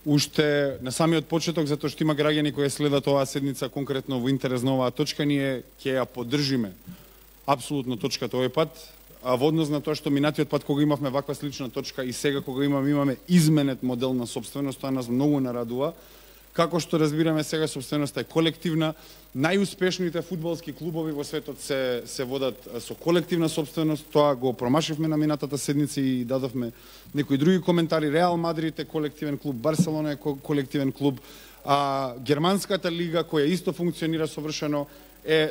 уште на самиот почеток, затоа што има граѓани кои следат оваа седница конкретно во интерес на оваа точка, ние ќе ја поддржиме апсолутно точката овој пат, а во однос на тоа што минатиот пат кога имавме ваква слична точка и сега кога имаме изменет модел на собственост, тоа нас многу нарадува. Како што разбираме сега, собственоста е колективна. Најуспешните фудбалски клубови во светот се водат со колективна собственост. Тоа го промашивме на минатата седница и дадовме некои други коментари. Реал Мадрид е колективен клуб, Барселона е колективен клуб, а германската лига која исто функционира совршено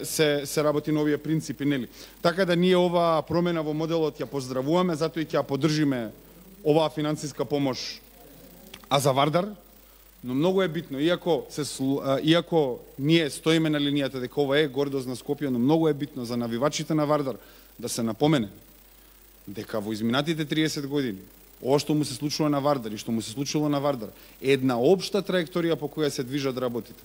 се работи на овие принципи, нели? Така да ние оваа промена во моделот ја поздравуваме, затоа и ќе ја поддржиме оваа финансиска помош, а за Вардар. Но многу е битно, иако ние стоиме на линијата дека ова е гордост на Скопје, но многу е битно за навивачите на Вардар да се напомене дека во изминатите 30 години ова што му се случува на Вардар и што му се случило на Вардар е една општа траекторија по која се движат работите.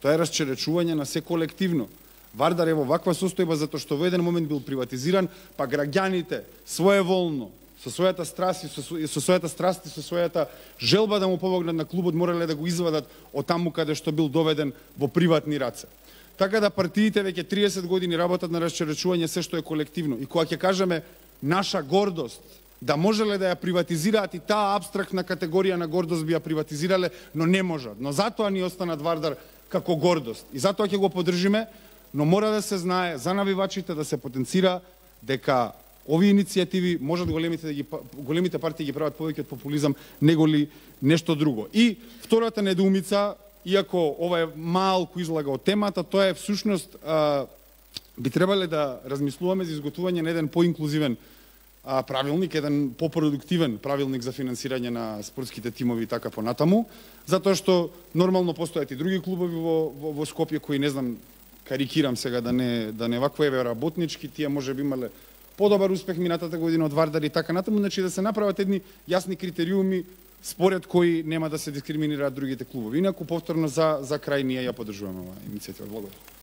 Тоа е расчеречување на се колективно. Вардар е во ваква состојба затоа што во еден момент бил приватизиран, па граѓаните своеволно со својата страст и со својата желба да му помогнат на клубот морале да го извадат од таму каде што бил доведен во приватни раце. Така да партиите веќе 30 години работат на расчеречување се што е колективно. И кога ќе кажеме наша гордост, да можеле да ја приватизираат и таа апстрактна категорија на гордост би ја приватизирале, но не можат. Но затоа ни останат Вардар како гордост. И затоа ќе го поддржиме, но мора да се знае за навивачите да се потенцира дека овие иницијативи можат големите партии ги прават повеќе од популизам неголи нешто друго. И втората недоумица, иако ова е малку излага од темата, тоа е всушност би требале да размислуваме за изготвување на еден поинклузивен правилник, еден попродуктивен правилник за финансирање на спортските тимови и така понатаму, затоа што нормално постојат и други клубови во Скопје кои, не знам, карикирам сега да не вакво еве работнички, тие можеби имале подобар успех минатата година од Вардар и така натаму, значи да се направат едни јасни критериуми според кои нема да се дискриминираат другите клубови. Инаку повторно за крај ние ја поддржуваме оваа иницијатива. Благодарам.